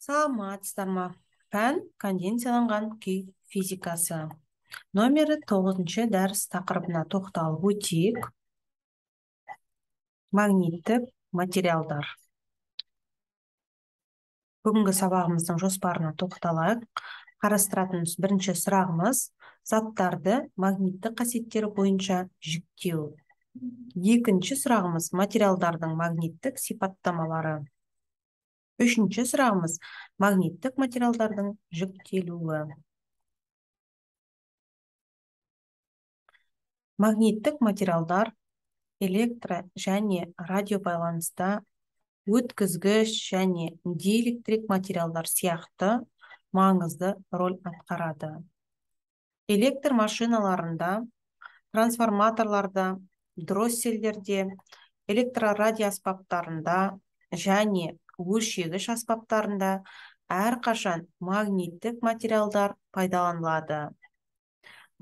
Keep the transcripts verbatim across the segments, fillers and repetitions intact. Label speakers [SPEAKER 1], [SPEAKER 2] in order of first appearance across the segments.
[SPEAKER 1] Саламатсыздар ма? Пән конденсияланған күй физикасы. Номері тоғызыншы дәріс тақырыбына тоқталып өтейік. Магниттік материалдар. Бүгінгі сабағымыздың жоспарына тоқталайық. Қарастыратынымыз бірінші сұрағымыз заттарды магниттік қасиеттері бойынша жіктеу. Екінші сұрағымыз материалдардың магниттік сипаттамалары. Үшінші сұрағымыз магниттік материалдардың жіктелуі. Магниттік материалдар электро және радио байланыста, өткізгіш және диэлектрик материалдар сияқты маңызды роль атқарады. Электр машиналарында, трансформаторларда, дросселдерде, электрорадио аспаптарында және өлшегіш аспаптарында әрқашан магниттік материалдар пайдаланылады.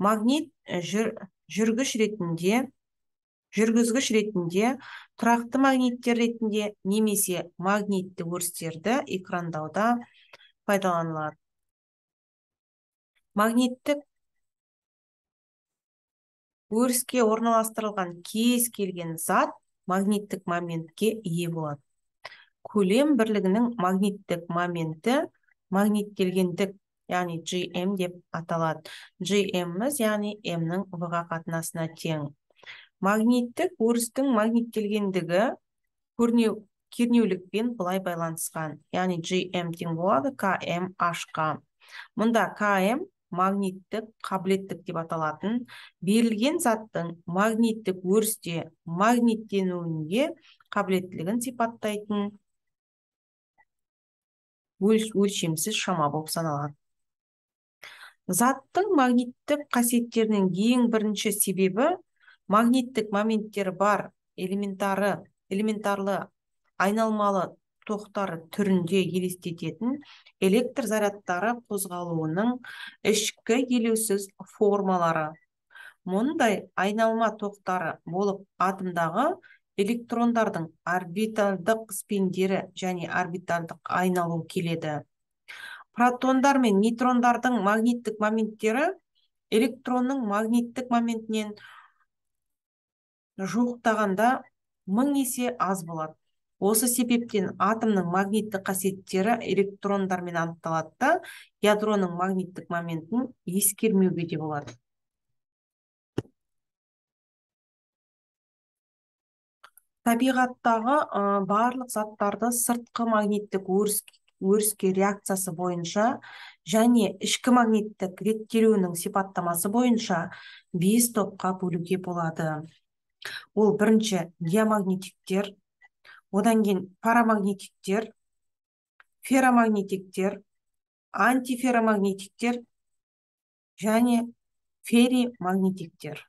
[SPEAKER 1] Магнит жүр, жүргіш ретінде, жүргізгіш ретінде, тұрақты магниттер ретінде немесе магнитті өрістерді экрандауда пайдаланылады. Магниттік өріске орналастырылған кез келген зат магниттік моментке ие болады. Көлем бірлігінің магниттік моменті магниттелгендік, яғни джи эм деп аталады. джи эм-міз, яғни М-нің В-ға қатынасына тең. Магниттік өрістің магниттелгендігі кернеулікпен былай байланысқан, яғни джи эм тең болады ка эм аш-қа. Мұнда ка эм магниттік қабілеттік деп аталатын, берілген заттың магниттік өрісте магниттенуіне қабілеттілігін сипаттайтын өлшемсіз шама болып саналады. Заттың магниттік қасиеттерінің ең бірінші себебі магниттік моменттері бар элементары, элементарлы айналмалы тоқтары түрінде елестететін электр зарядтары қозғалуының ішкі елеусіз формалары. Мұндай айналма тоқтары болып атомдағы электрондардың орбитальдық спиндері және орбитальдық айналу келеді. Протондар мен нейтрондардың магниттік моменттері электронның магниттік моментінен жуықтағанда мың есе аз болады. Осы себептен атомның магниттік қасиеттері электрондармен анықталады да, ядроның магниттік моментін ескермеуге де болады. Табиғаттағы барлық заттарды сыртқы магниттік өріске реакциясы бойынша және ішкі магниттік реттелуінің сипаттамасы бойынша бес топқа бөлуге болады. Ол бірінші диамагнетиктер, одан кейін парамагнетиктер, ферромагнетиктер, антиферромагнетиктер және ферримагнетиктер.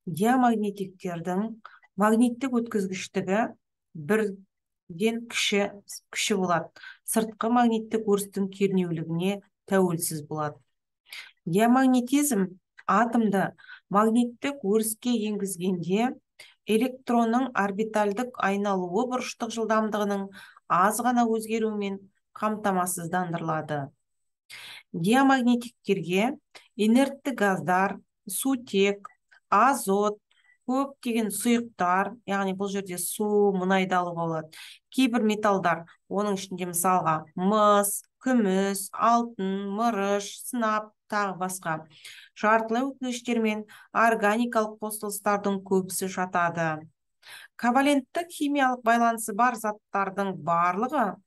[SPEAKER 1] Диамагнетиктердің магниттік өткізгіштігі бірден кіші, кіші болады. Сыртқы магниттік өрістің кернеулігіне тәуелсіз болады. Диамагнетизм атомды магниттік өріске енгізгенде электронның орбитальдық айналуы бұрыштық жылдамдығының аз ғана өзгеруімен қамтамасыздандырылады. Диамагнетиктерге инертті газдар, сутек, азот, көптеген сұйықтар, яғни бұл жерде су, мұнайды алуға болады. Кейбір металдар, оның ішінде мысалға мыс, күміс, алтын, мырыш, сынап, тағы басқа. Жартылай өткізгіштер мен органикалық қосылыстардың көбісі жатады. Коваленттік химиялық байланысы бар заттардың барлығы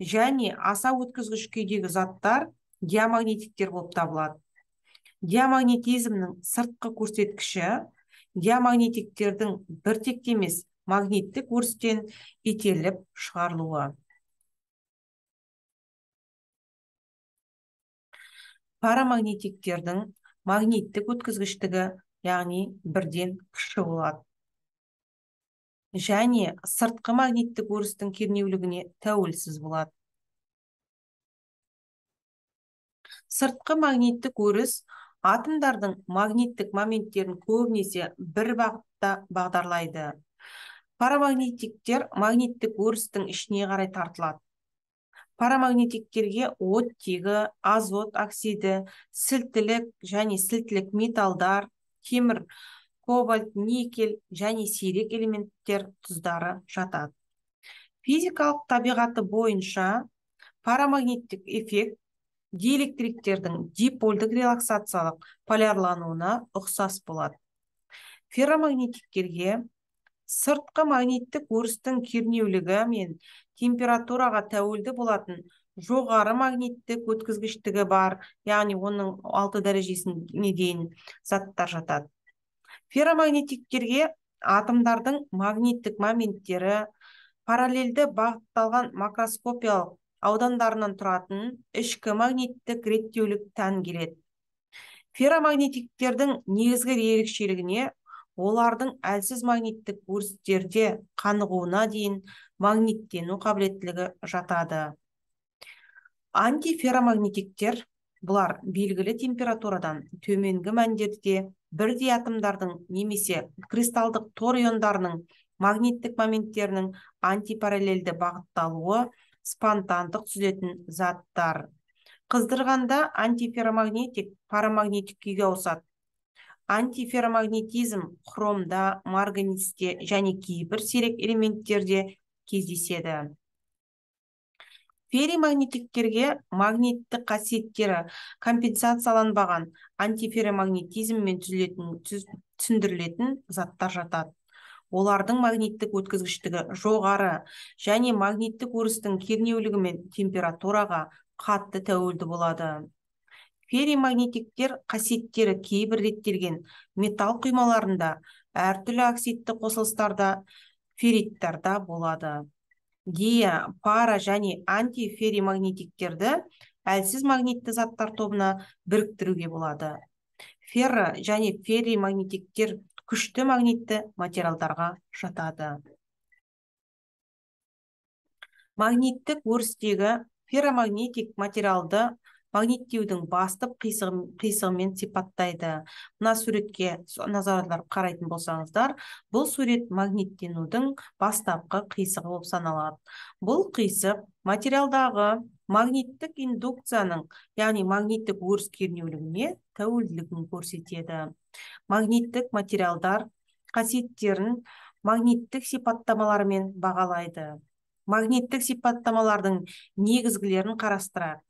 [SPEAKER 1] және аса өткізгіш күйдегі заттар диамагнетиктер болып табылады. Диамагнетизмнің сыртқы көрсеткіші диамагнетиктердің біртекті емес магниттік өрістен итеріліп шығарылуы. Парамагнетиктердің магниттік өткізгіштігі, яғни бірден кіші болады. Және сыртқы магниттік өрістің кернеулігіне тәуелсіз болады. Сыртқы магниттік өріс атомдардың магниттік моменттерін көбінесе бір бағытта бағдарлайды. Парамагнетиктер магниттік өрістің ішіне қарай тартылады. Парамагнитиктерге оттегі, азот оксиді, сілтілік және сілтілік металдар, темір, кобальт, никель және сирек элементтер тұздары жатады. Физикалық табиғаты бойынша парамагниттік эффект диэлектриктердің дипольдік релаксациялық полярлануына ұқсас болады. Ферромагнитиктерге сыртқы магниттік өрістің кернеулігі мен температураға тәуелді болатын жоғары магниттік өткізгіштігі бар, яғни оның алты дәрежесіне дейін заттар жатады. Ферромагнитиктерге атомдардың магниттік моменттері параллельді бағытталған макроскопиялық аудандарынан тұратын ішкі магниттік реттеулік тән келеді. Ферромагнитиктердің негізгі ерекшелігіне олардың әлсіз магниттік өрістерде қанығуына дейін магниттену қабілеттілігі жатады. Антиферромагнитиктер бұлар белгілі температурадан төменгі мәндерде бірдей атомдардың немесе кристалдық тор иондарының магниттік моменттерінің антипараллельді бағытталуы спонтандық түзілетін заттар. Қыздырғанда антиферромагнитик парамагнитик күйге ауысады. Антиферромагнетизм хромда, марганецте және кейбір сирек элементтерде кездеседі. Ферримагнитиктерге магниттік қасиеттері компенсацияланбаған антиферромагнетизммен түсіндірілетін заттар жатады. Олардың магниттік өткізгіштігі жоғары және магниттік өрістің кернеулігі мен температураға қатты тәуелді болады. Ферримагнитиктер қасиеттері кейбір реттелген металл құймаларында, әртүрлі оксидті қосылыстарда, ферриттарда болады. Диа, пара және антиферримагнитиктерді әлсіз магнитті заттар тобына біріктіруге болады. Ферро және ферримагнитиктер күшті магнитті материалдарға жатады. Магниттік өрістегі ферромагнитик материалды магниттеудің басты қисығымен сипаттайды. Мына суретке назар аударып қарайтын болсаңыздар, бұл сурет магниттенудің бастапқы қисығы болып саналады. Бұл қисық материалдағы магниттік индукцияның, яғни магниттік өріс кернеулігіне тәуелділігін көрсетеді. Магниттік материалдар қасиеттерін магниттік сипаттамаларымен бағалайды. Магниттік сипаттамалардың негізгілерін қарастырады.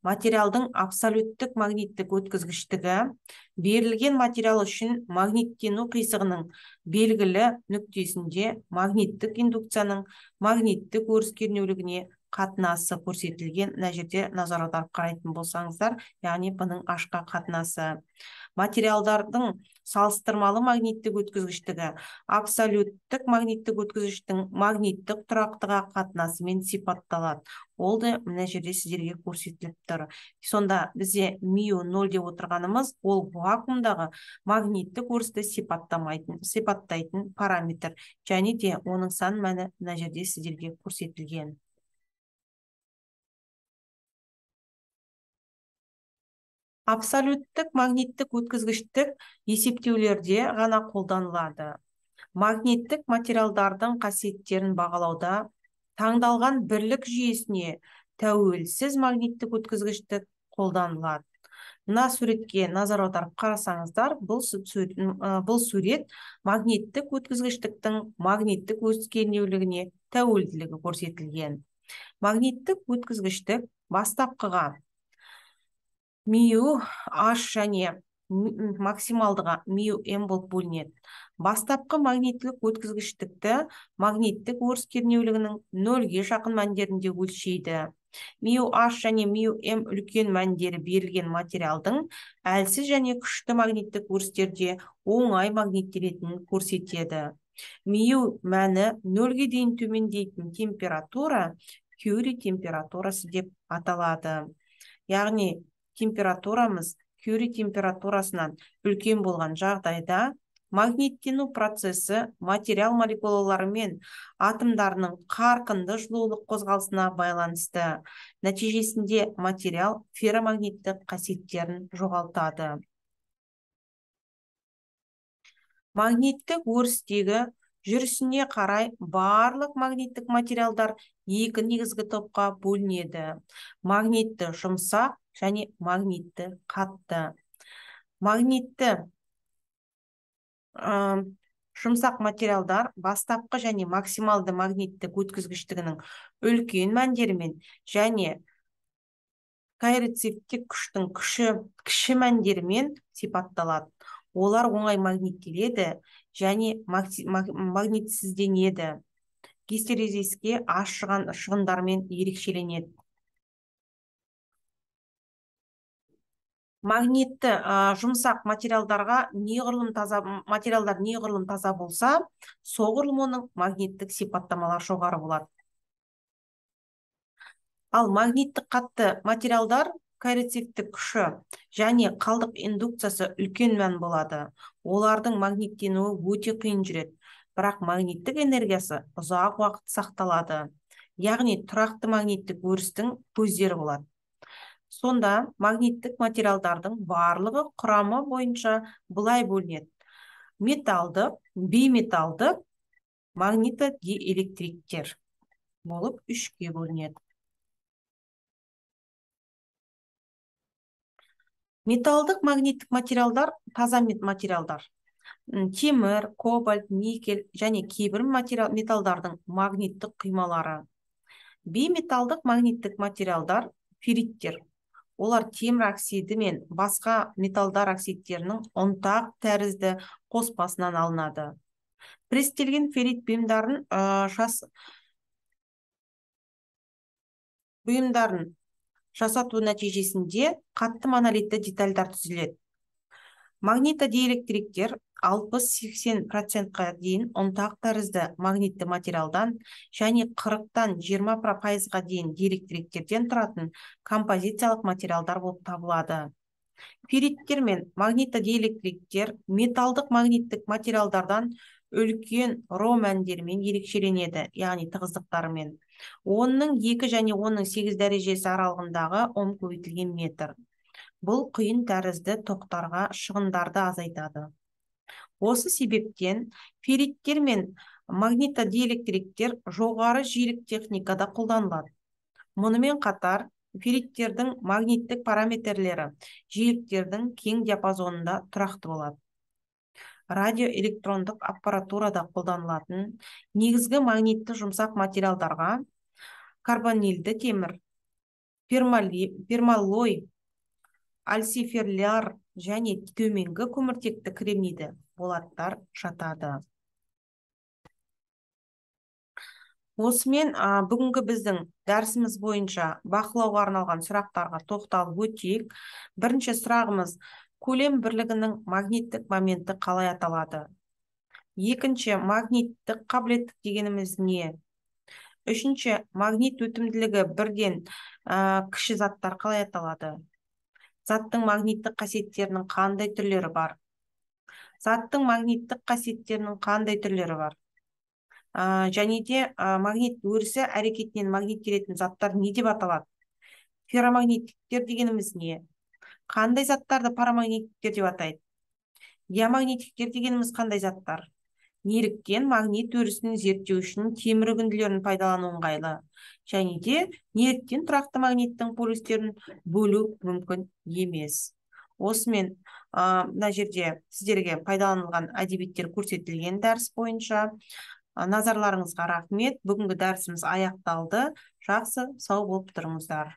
[SPEAKER 1] Материалдың абсолюттік магниттік өткізгіштігі берілген материал үшін магниттену қисығының белгілі нүктесінде магниттік индукцияның магниттік өріс кернеулігіне қатынасы көрсетілген. Мына жерде назар аударып қарайтын болсаңыздар, яғни бұның ашқа қатынасы. Материалдардың салыстырмалы магниттік өткізгіштігі абсолюттік магниттік өткізгіштің магниттік тұрақтыға қатынасымен сипатталады. Ол да мына жерде сіздерге көрсетіліп тұр. Сонда бізде миу нөл деп отырғанымыз, ол вакуумдағы магниттік өрісті сипаттамайтын, сипаттайтын параметр. Және де оның сан мәні мына жерде сіздерге көрсетілген. Абсолюттік магниттік өткізгіштік есептеулерде ғана қолданылады. Магниттік материалдардың қасиеттерін бағалауда таңдалған бірлік жүйесіне тәуелсіз магниттік өткізгіштік қолданылады. Мына суретке назар аударып қарасаңыздар, бұл сурет, бұл сурет магниттік өткізгіштіктің магниттік өріс кернеулігіне тәуелділігі көрсетілген. Магниттік өткізгіштік бастапқыға миу H және максималдыға миу М болып бөлінеді. Бастапқы магниттік өткізгіштікті магниттік өріс кернеулігінің нөлге жақын мәндерінде өлшейді. миу H және миу М үлкен мәндері берілген материалдың әлсіз және күшті магниттік өрістерде оңай магниттелетінін көрсетеді. Миу мәні нөлге дейін төмендейтін температура Кюри температурасы деп аталады. Яғни температурамыз Кюри температурасынан үлкен болған жағдайда магниттену процесі материал молекулалары мен атомдарының қарқынды жылулық қозғалысына байланысты. Нәтижесінде материал ферромагниттік қасиеттерін жоғалтады. Магниттік өрістегі жүрісіне қарай барлық магниттік материалдар екі негізгі топқа бөлінеді. Магнитті жұмсақ және магнитті қатты. Магнитті жұмсақ материалдар бастапқы және максималды магниттік өткізгіштігінің үлкен мәндерімен және коэрцивтік күштің күші кіші мәндерімен сипатталады. Олар оңай магниттеледі және магнитсізденеді. Гистерезиске ашыған шығындармен ерекшеленеді. Магнитті жұмсақ материалдарға неғұрлым таза материалдар неғұрлым таза болса, соғұрлым оның магниттік сипаттамалар жоғары болады. Ал магниттік қатты материалдар коэрцивтік күші және қалдық индукциясы үлкен мән болады. Олардың магниттенуі өте қиын жүреді, бірақ магниттік энергиясы ұзақ уақыт сақталады. Яғни тұрақты магниттік өрістің көздері болады. Сонда магниттік материалдардың барлығы құрамы бойынша былай бөлінеді. Металдық, бейметалдық, магнитодиэлектриктер болып үшке бөлінеді. Металдық магниттік материалдар таза материалдар. Темір, кобальт, никель және кейбір металдардың магниттік құймалары. Бейметалдық магниттік материалдар ферриттер. Олар темір оксиді мен басқа металдар оксидтерінің ұнтақ тәрізді қоспасынан алынады. Престелген феррит бұйымдарын бұйымдарын жасату нәтижесінде қатты монолитті детальдар түзіледі. Магнитодиэлектриктер алпыс-сексен процентқа дейін ұнтақ тәрізді магнитті материалдан және қырықтан жиырма пайызға дейін диэлектриктерден тұратын композициялық материалдар болып табылады. Ферриттер мен магнитодиэлектриктер металдық магниттік материалдардан үлкен ро мәндерімен ерекшеленеді, яғни тығыздықтарымен. Оның екі және оның сегіз дәрежесі аралығындағы ом көбейтілген метр. Бұл құйын тәрізді тоқтарға шығындарды азайтады. Осы себептен ферриттер мен магнитодиэлектриктер жоғары жиілік техникада қолданылады. Мұнымен қатар ферриттердің магниттік параметрлері жиіліктердің кең диапазонында тұрақты болады. Радиоэлектрондық аппаратурада қолданылатын негізгі магнитті жұмсақ материалдарға карбонилді темір, пермаллой, альциферляр және төменгі көміртекті кремнийді болаттар жатады. Осымен бүгінгі біздің дәрісіміз бойынша бақылауға арналған сұрақтарға тоқталып өтейік. Бірінші сұрағымыз: көлем бірлігінің магниттік моменті қалай аталады? Екінші, магниттік қабілеттік дегеніміз не? Үшінші, магнит өтімділігі бірден кіші заттар қалай аталады? Заттың магниттік қасиеттерінің қандай түрлері бар? Заттың магниттік қасиеттерінің қандай түрлері бар? Және де магнит өрісі әрекетінен магниттелетін заттар не деп аталады? Ферромагниттіктер дегеніміз не? Қандай заттарды парамагниттіктер деп атайды? Диамагниттіктер дегеніміз қандай заттар? Неліктен магнит өрісін зерттеу үшін темір үгінділерін пайдалану ыңғайлы? Және де неліктен тұрақты магниттің полюстерін бөлу мүмкін емес? Осымен мына жерде сіздерге пайдаланылған әдебиеттер көрсетілген дәріс бойынша. Назарларыңызға рахмет. Бүгінгі дәрісіміз аяқталды. Жақсы, сау болып тұрыңыздар.